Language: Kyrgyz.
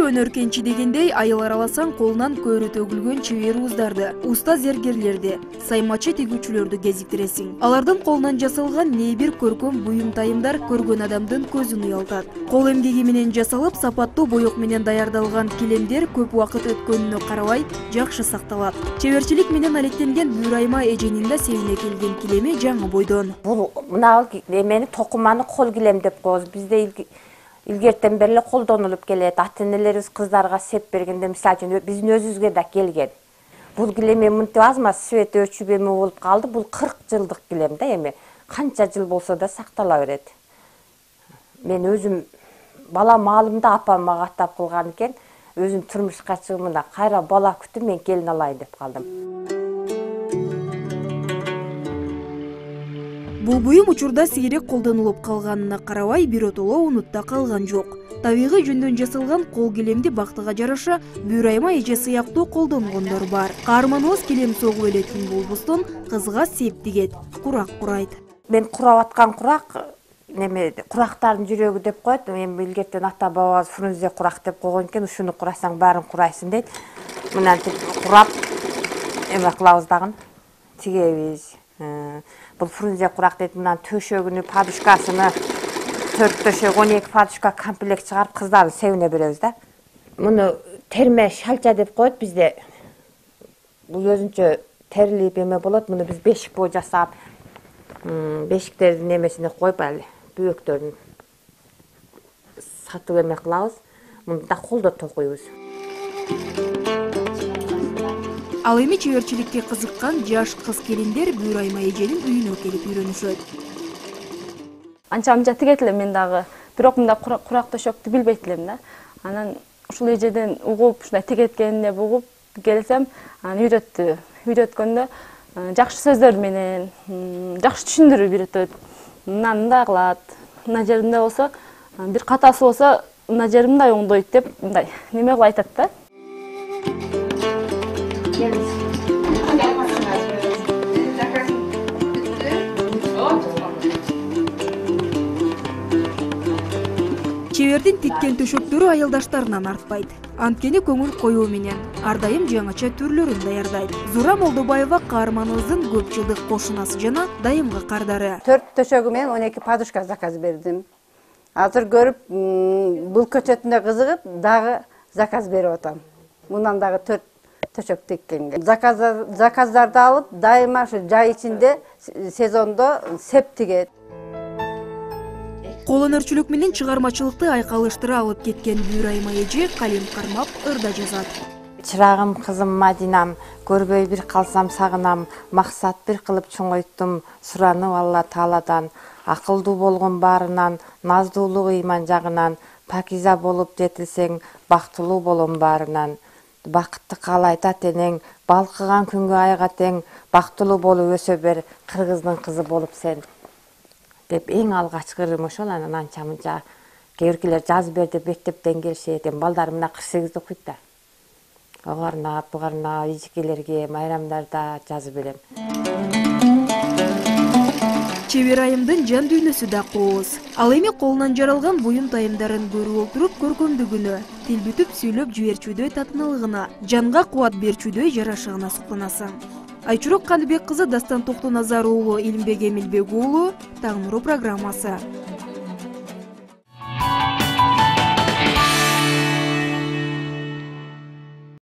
өнөр кенчи дегендей айыл араласаң колунан көрү төгүлгөн чебер уздарды, уста зергерлерди, саймачы тигүүчүлөрдү кезиктиресиң. Алардын колунан жасалган небир көркөм буюм тайымдар көргөн адамдын көзүн уялтат. Кол эмгеги менен жасалып, сапаттуу боек менен даярдалган килемдер көп убакыт өткөнүнө карабай жакшы сакталат. Чеберчилик менен алектенген Бүүрайма эженин да себине келген килеми жаңы бойдон. Бул мына эмени токуманы кол килем деп коебуз. Бизде илгертен бери эле колдонулуп келет. Ата-энелерибиз кыздарга сеп бергенде, мисалы үчүн биздин өзүбүзгө да келген. Бул килем мынтип азма свет өчүп эме болуп калды. Бул 40 жылдык килем да эми. Канча жыл болсо да сактала берет. Мен өзүм бала маалымда апам мага каттап кылган экен. Өзүм турмушка чыгымында кайра бала күтүп мен келин алайын деп калдым. Бул буюм учурда сейрек колдонулуп калганына карабай биротоло унутта калган жок. Табигый жөндөн жасалган кол килемди бактыга жараша Бүүрайма эже сыяктуу колдонгондор бар. Каарманыбыз килем согуп элетин болбостон кызга сеп тигет, курак курайт. Мен курап аткан курак курактардын жүрөгү деп коет. Эми илгертен ата бабабыз фрунзе курак деп койгон экен. Ушуну курасаң баарын курайсың дейт. Мынантип курап эме кылабыз дагы, тигебиз. Бул фрунзе курак дейт. Мындан төшөгүнү, подушкасыны 4 төшөк, 12 подушка комплект чыгарып кыздардын себине беребиз да. Муну терме шалча деп коет бизде. Бул өзүнчө терилип эме болот. Муну биз бешик боо жасап, бешиктердин эмесине коюп али бөөктөрүн сатып эме кылабыз. Муну да колдо токуйбуз. Ал эми чеберчиликке кызыккан жаш кыз келиндер Бүүрайма эженин үйүнө келип үйрөнүшөт. Анча тигет элем мен дагы, бирок мындай курак төшөктү билбейт элем да. Анан ушул эжеден угуп, ушундай тигеткенди угуп келсем, анан үйрөттү. Үйрөткөндө жакшы сөздөр менен, жакшы түшүндүрүп үйрөтөт. Мындай кылат. Мына жеринде болсо, бир катасы болсо, мына жери мындай оңдойт деп, мындай неме кылып айтат да. Чебердин тиккен төшөктөрү айылдаштарынан артпайт. Анткени көңүл коюу менен ар дайым жаңыча түрлөрүн даярдайт. Зура Молдобаева каарманыбыздын көп жылдык кошунасы жана дайымгы кардары. 4 төшөгү менен 12 подушка заказ бердим. Азыр көрүп, бул көчөтүнө кызыгып, дагы заказ берип атам. Мындан дагы 4 төшөк тиккенге. Заказдарды алып, дайыма ушу жай ичинде сезондо сеп тигет. Кол өнөрчүлүк менен чыгармачылыкты айкалыштыра алып кеткен Бүүрайма эже калем кармап ырда жазат. Чырагым кызым Мадинам, көрбөй бир калсам сагынам, максат бир кылып чоңойттум, суранып Алла Тааладан, акылдуу болгон баарынан, наздуулук ыйман жагынан, пакиза болуп жетилсең, бактылуу болом баарынан. Бакытты каалайт ата-энең, балкыган күнгө айга тең, бактылуу болуп өсө бер, кыргыздын кызы болуп сен. Деп эң алгачкы ырым ошол. Анан анча-мынча кээ-биркилер жазып бер деп мектептен келишет. Балдарым мына 48 окуйт да. Огарнап, бугарнап, ижикелерге, майрамдарда жазып берем. Чебер айымдын жан дүйнөсү да кооз. Ал эми колунан жаралган буюм тайымдарын көрүп отуруп көркөмдүгүнө, тил бүтүп сүйлөп жиберчүдөй татымдылыгына, жанга кубат берчүдөй жарашыгына суктанасың. Айчурок Кандыбек кызы, Дастан Токтоназар уулу, Илимбек Эмилбек уулу, Таң нуру программасы.